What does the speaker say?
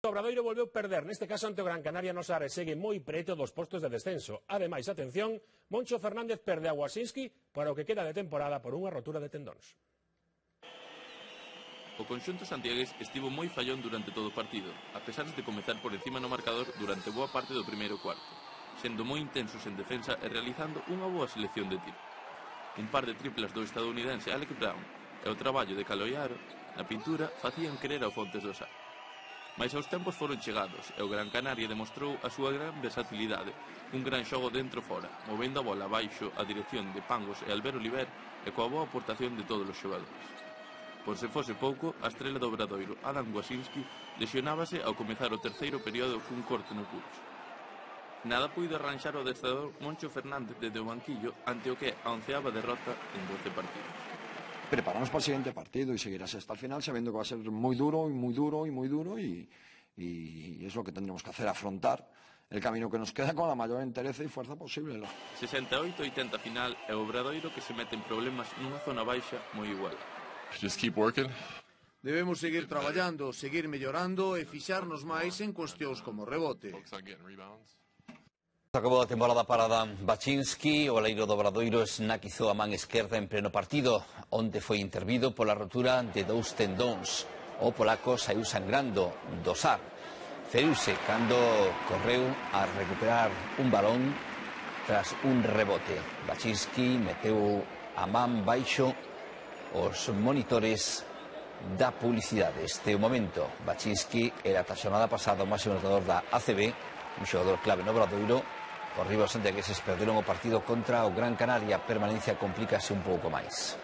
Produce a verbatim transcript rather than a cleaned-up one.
O Obradoiro volveu perder, neste caso ante o Gran Canaria no Sar, e segue moi preto dos postos de descenso. Ademais, atención, Moncho Fernández perde a Wasinski para o que queda de temporada por unha rotura de tendóns. O conxunto santiagués estivo moi fallón durante todo o partido, a pesar de comezar por encima no marcador durante boa parte do primeiro cuarto, sendo moi intensos en defensa e realizando unha boa selección de tiro. Un par de triplas do estadounidense Alec Brown e o traballo de Caloiaro na pintura facían querer ao Fontes do Sar. Mais aos tempos foron chegados e o Gran Canaria demostrou a súa gran versatilidade, un gran xogo dentro-fora, movendo a bola abaixo a dirección de Pangos e Albert Oliver e coa boa aportación de todos os xogadores. Por se fose pouco, a estrela do Obradoiro, Adam Wasinski, lesionábase ao comezar o terceiro período cun corte no pulso. Nada puido arranxar o adestrador Moncho Fernández desde o banquillo ante o que é a onceava derrota en doce partidos. Prepararnos para el siguiente partido y seguir así hasta el final, sabiendo que va a ser muy duro y muy duro y muy duro y, y es lo que tendremos que hacer, afrontar el camino que nos queda con la mayor entereza y fuerza posible. sesenta e oito a oitenta final e o Obradoiro que se mete en problemas nunha zona baixa moi igual. Just keep working. Debemos seguir traballando, seguir mellorando e fixarnos máis en cuestións como rebote. Acabou a temporada para Dan Baczynski, o aleiro do Obradoiro esnaquizou a man esquerda en pleno partido, onde foi intervido pola rotura de dous tendóns. O polaco saiu sangrando do Sar. Feriuse cando correu a recuperar un balón tras un rebote. Baczynski meteu a man baixo os monitores da publicidade. Este o momento. Baczynski era a xornada pasada o máximo anotador da A C B, un xogador clave no Obradoiro. Os rivais santiagueses perderon o partido contra o Gran Canaria. A permanencia complícase un pouco máis.